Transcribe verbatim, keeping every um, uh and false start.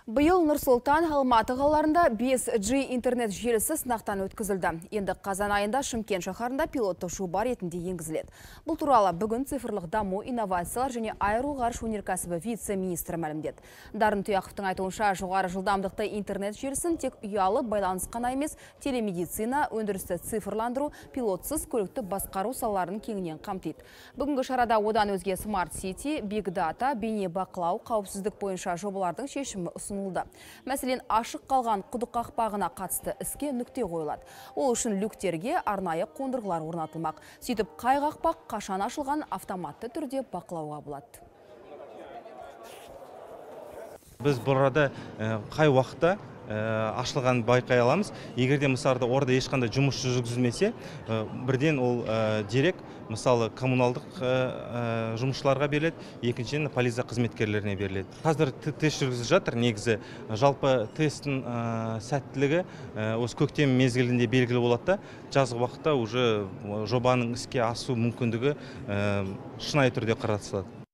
Биыл Нұр-Сұлтан, Алматы қалаларында бес джи интернет желісі сынақтан өткізілді. Енді қазан айында Шымкент шаһарында пилоттық жоба ретінде енгізіледі. Бұл туралы бүгін цифрлық даму, инновациялар және аэроғарыш өнеркәсібі вице-министрі мәлімдеді. Дарын Тұяқовтың айтуынша, жоғары жылдамдықты интернет желісін тек ұялы байланыс қана емес, телемедицина, өндірісті цифрландыру, пилотсыз көлікті басқару салаларын кеңінен қамтиды. Бүгінгі шарада одан өзге Smart City, Big Data, бейне бақылау, қауіпсіздік бойынша жобалардың шешімі ұсынылды. Мәселен, ашық қалған құдық қақпағына қатысты іске нүкте қойылады. Ол үшін люктерге арнайы қондырғылар орнатылмақ. Сөйтіп, қай қақпақ қашан ашылған автоматты түрде бақылауға болады. Біз бұл арада қай уақытта ашылған байқай аламыз. Егерде мысалда орда ешқандай жұмыс жүргізілмесе, бірден ол дерек мысалы коммуналдық жұмысшыларға беріледі, екіншіден полиция қызметкерлеріне беріледі. Қазір тест жүргізіліп жатыр. Негізі жалпы тесттің сәттілігі осы көктем мезгілінде белгілі болады да, жазғы уақытта уже жобаның іске асу мүмкіндігі шынайы түрде қарастырылады.